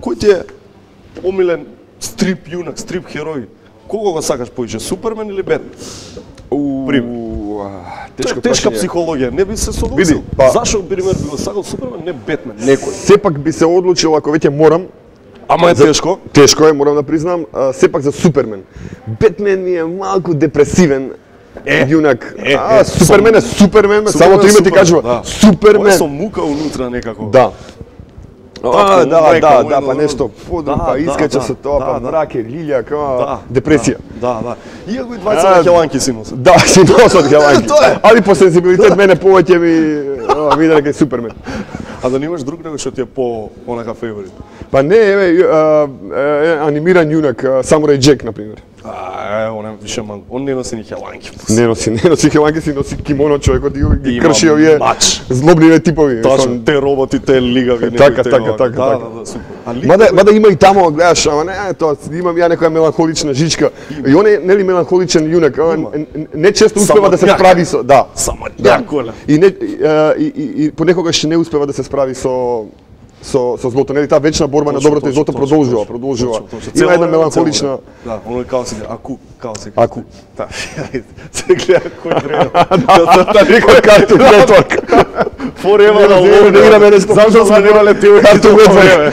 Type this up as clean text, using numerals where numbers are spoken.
Кој ти е омилен стрип јунак, стрип херој? Кого го сакаш повеќе, Супермен или Бетмен? Тешка психологија, не би се согласил. Зашо, пример, би го сакал Супермен, не Бетмен, некој? Сепак би се одлучил, ако веќе морам. Ама е тешко? Тешко е, морам да признам, сепак за Супермен. Бетмен ми е малку депресивен. Јунак. Супермен е Супермен, само тоа име ти кажува. Супермен. Ој со мука унутра некако. Да. Па нешто подрум, па искача со тоа, па мраке, лилјак, депресија. Да. Иако и двајца на хеланки си носат. Да, си носат хеланки. Али по сензибилитет мене повеќе ми виде дека е Супермен. А да немаш друг него што ти е по онака фаворит? Па не, анимиран јунак, Самурај Џек, например. Он е више ман, он не носи ни хеланки. Не носи хеланки, си носи кимоно, човекот и крши овие злобливе типови. Точно, те роботи, те лигави. Така. Мада има и тамо, гледаш, ама не, тоа, имам ја некоја меланхолична жичка. И он е, нели, меланхоличен јунак, не често успева да се справи со... Да. Само њаколя. И понекогаш не успева да се справи со злото, нели, таа вечна борба на доброто и злото продолжува. Има една меланхолична... Да, оно е као се Аку. Да, се гледа кој време. Да, некој Cartoon Network. Forever alone. Зашто сме немале теорија? Cartoon Network.